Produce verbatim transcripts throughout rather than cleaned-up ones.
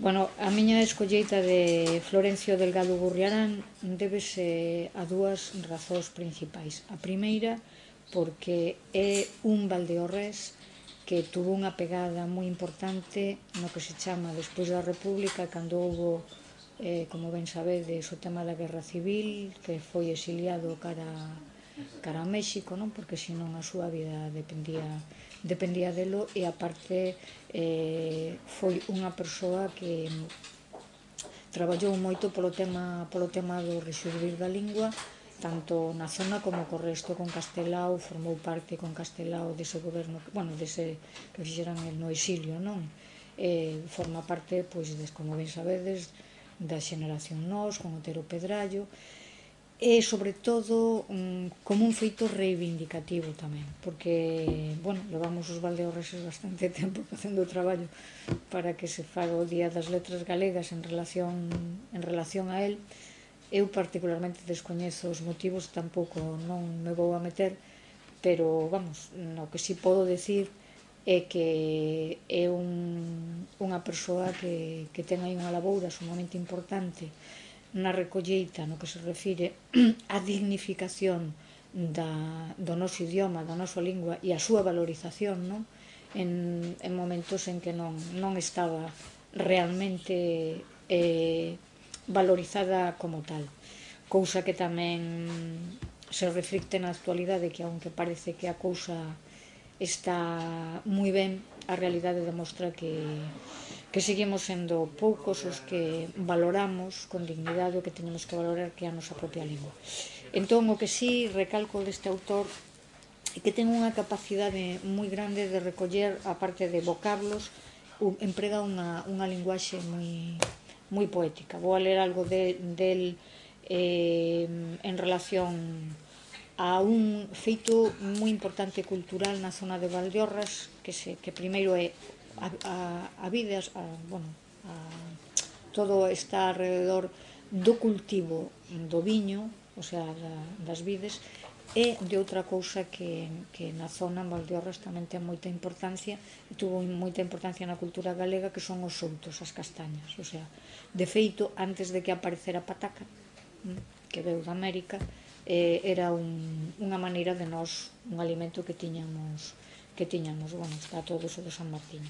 Bueno, a miña escolleita de Florencio Delgado Gurriarán débese a dúas razóns principais. A primeira, porque é un valdeorrés que tuvo unha pegada moi importante no que se chama despois da República, cando houbo, eh, como ben sabedes, o tema da Guerra Civil, que foi exiliado cara cara a México, non? Porque senón a súa vida dependía dependía delo, e aparte eh, foi unha persoa que traballou moito polo tema polo tema do rexurdir da lingua, tanto na zona como co resto, con Castelao, formou parte con Castelao dese goberno, bueno, dese que fixeran no exilio, non? Eh, forma parte, pois, des, como ben sabedes, da xeneración Nós, con Otero Pedrallo, e sobre todo um, como un feito reivindicativo tamén, porque, bueno, levamos os valdeorreses bastante tempo facendo o traballo para que se faga o Día das Letras Galegas en relación, en relación a él. Eu particularmente descoñezo os motivos, tampouco non me vou a meter, pero, vamos, no que si podo decir é que é un, unha persoa que, que ten aí unha laboura sumamente importante na recolleita no que se refire á dignificación da, do noso idioma, da nosa lingua e a súa valorización, non? En, en momentos en que non, non estaba realmente eh, valorizada como tal, cousa que tamén se reflicte na actualidade, que aunque parece que a cousa está moi ben, a realidade demostra que que seguimos sendo poucos os que valoramos con dignidade o que teñemos que valorar, que é a nosa propia lingua. Entón, o que sí recalco deste autor é que ten unha capacidade moi grande de recoller, a parte de vocablos, emprega unha, unha linguaxe moi, moi poética. Vou a ler algo de, del eh, en relación a un feito moi importante cultural na zona de Valdeorras, que, se, que primeiro é a, a, a vida, a, bueno, a, todo está alrededor do cultivo do viño, o sea, da, das vides, e de outra cousa que, que na zona en Valdeorras tamén ten moita importancia, e tuvo moita importancia na cultura galega, que son os soutos, as castañas. O sea, de feito, antes de que aparecera a pataca, que veu da América, eh, era un, unha maneira de nós, un alimento que tiñamos que tiñamos, bueno, está todo eso de San Martín.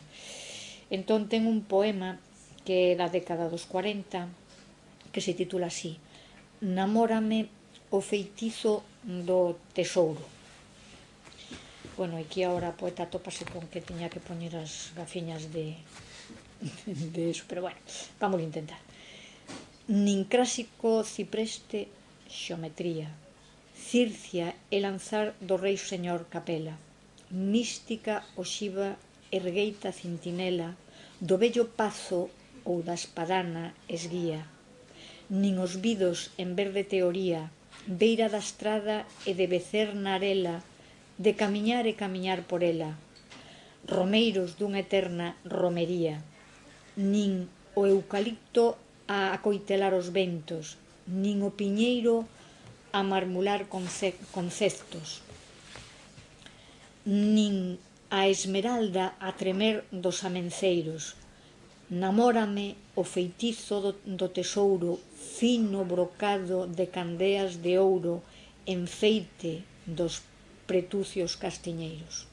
Entón ten un poema que é da década dos cuarenta, que se titula así: Namórame o feitizo do tesouro. Bueno, aquí agora a poeta topase con que tiña que poñer as gafiñas de, de eso, pero bueno, vamos a intentar. Nin clásico cipreste xeometría, circia e lanzar do rei señor Capela, mística oxiva ergueita cintinela do vello pazo ou da espadana esguía, nin os vidos en verde teoría, beira da estrada e de becer na arela, de camiñar e camiñar por ela, romeiros dunha eterna romería, nin o eucalipto a acoitelar os ventos, nin o piñeiro a marmular conceptos, nin a esmeralda a tremer dos amenceiros. Namórame o feitizo do, do tesouro, fino brocado de candeas de ouro, enfeite dos pretucios castiñeiros.